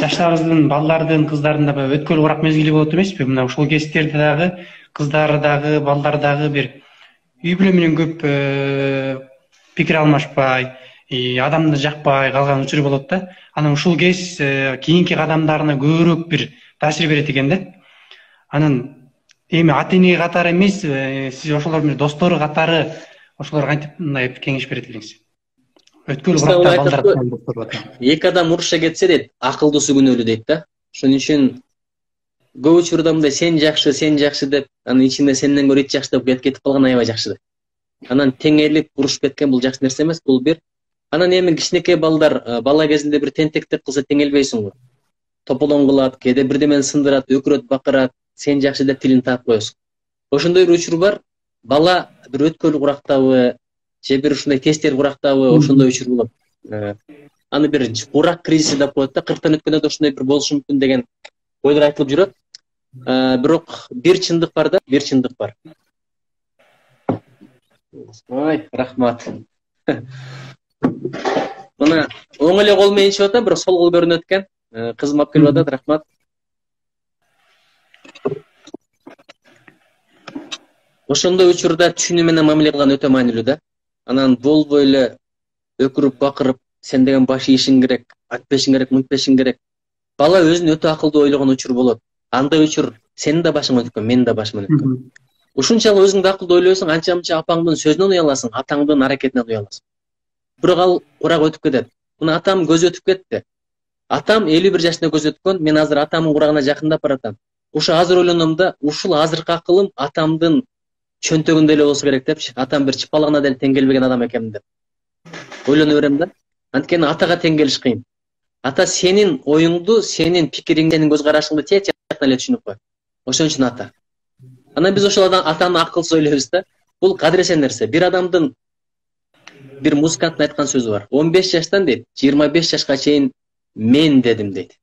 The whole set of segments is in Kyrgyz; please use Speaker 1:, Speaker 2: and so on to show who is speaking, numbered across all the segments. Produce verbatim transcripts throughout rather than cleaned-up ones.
Speaker 1: жаштарыбыздын, балдардын, кыздардын да өткөл урак мезгили болот эмеспи? Мына ушул кездерде дагы кыздар дагы, балдар дагы бир үй бүлө менен көп пикир алмашпай, адамды жакпай калган учур болот да. Анан ушул кез кийинки кадамдарына көбүрөөк бир таасир берет экен да. Анан эми ата эне катары эмес, сиз ошолор менен достору катары ошолор кантип мындай кеңеш берет элеңиз? Өткөл уракта балдар
Speaker 2: эки адам уруша кетсе дейт, акылдуусу күнөөлүү дейт да. Ошон үчүн көп учурда мындай сен жакшы, сен жакшы деп, анын ичинде сенден көрө ит жакшы деп кетип калган аябай жакшы да. Анан теңелип урушуп кеткен бул жакшы нерсе эмес, бул бир. Анан эми кичинекей балдар бала кезинде бир тентектик кылса теңелбейсиң го. Тополоң кылат, кээде бирдемени сындырат, өкүрөт, бакырат, сен жакшы деп тилин таап коесуң. Ошондой бир учур бар. Бала бир өткөл курактабы, же бир ушундай тесттер курактабы, ошондой учур болот. Аны бир бурак кризиси деп коет да, кырктан өткөндө да ушундай бир болушу мүмкүн деген ойлор айтылып жүрөт. Бирок бир чындык бар да, бир чындык бар. Ой, рахмат. Мына оң эле кол менен ичип атам, бирок сол кол көрүнөт экен. Кызым алып келип атат, рахмат. Ошондой учурда түшүнүү менен мамиле кылган өтө маанилүү да. Анан болбой эле өкүрүп, бакырып, сен деген баш ийишиң керек, айтпешиң керек, мынтпешиң керек. Бала өзүн өтө акылдуу ойлогон учур болот. Андай учур сенин да башыңан өткөн, менин да башыман өткөн. Ушунчалык өзүңдү акылдуу ойлойсуң, анча-мынча апаңдын сөзүнөн уяласың, атаңдын аракетинен уяласың. Бирок ал курак өтүп кетет. Мына атам көзү өтүп кетти. Атам элүү бир жашында көзү өткөн, мен азыр атамдын курагына жакындап баратам. Ушу азыр ойлоном да, ушул азыркы акылым атамдын чөнтөгүндө эле болсо керек депчи. Атам бир чыпалагына деле тең келбеген адам экен деп ойлоно берем да. Анткени атага тең келиш кыйын. Ата сенин оюңду, сенин пикириңди, сенин көз карашыңды тез жактан эле түшүнүп коет. Ошон үчүн ата. Анан биз ошол атаны акылсыз ойлойбуз да. Бул кадыресен нерсе. Бир адамдын бир музыканттын айткан сөзү бар. он беш жаштан дейт, жыйырма беш жашка чейин мен дедим дейт.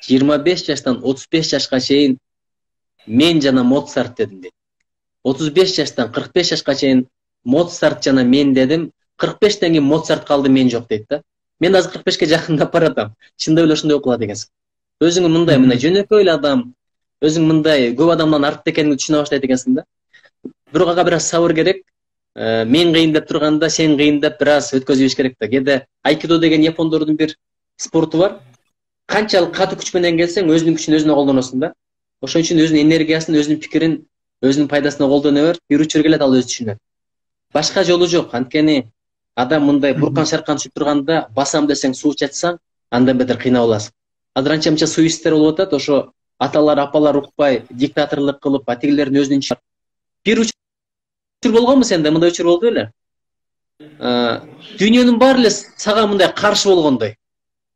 Speaker 2: жыйырма беш жаштан отуз беш жашка чейин мен жана Моцарт дедим дейт. отуз беш жаштан кырк беш жашка чейин Моцарт жана мен дедим. кырк бештен кийин Моцарт калды, мен жок дейт да. Мен азыр кырк бешке жакындап баратам. Чындап эле ошондой болуп калат экенсиң. Өзүң мындай мындай жөнөкөй эле адам, өзүң мындай көп адамдан артта экениңди түшүнө баштайт экенсиң да. Бирок ага бир аз сабыр керек. Мен кыйын деп турганда сен кыйын деп бир аз өткөзүш керек да. Кээде айкидо деген япондордун бир спорту бар. Канчалык катуу күч менен келсең, өзүнүн күчүн өзүнө колдоносуң да. Ошон үчүн өзүнүн энергиясын, өзүнүн пикирин өзүнүн пайдасына колдоно бер. Бир учур келет, ал өзү түшүнөт. Башка жолу жок. Анткени адам мындай буркан шаркан түшүп турганда басам десең суу чачсаң, андан бетер кыйнап аласың. Азыр анча-мынча суистер болуп атат, ошо аталар, апалар укпай, диктаторлук кылып, атигилердин өзүнүн бир учур болгонбу сенде, мындай учур болду беле? Дүйнөнүн баары эле сага мындай каршы болгондой.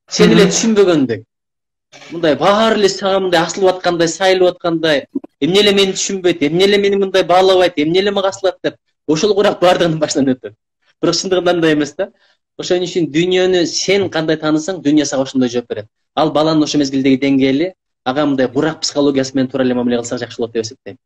Speaker 2: Сен эле түшүнбөгөндөй. Мындай баары эле сага мындай асылып аткандай, сайылып аткандай, эмне эле мени түшүнбөйт, эмне эле мени мындай баалабайт, эмне эле мага асылат деп. Ошол курак баардыгынын башынан өтөт. Бирок чындыгында андай эмес да. Ошон үчүн дүйнөнү сен кандай таанысаң, дүйнө сага ошондой жооп берет. Ал баланын ошо мезгилдеги деңгээли, ага мындай бурак психологиясы менен туура эле мамиле кылсак жакшы болот деп эсептейм.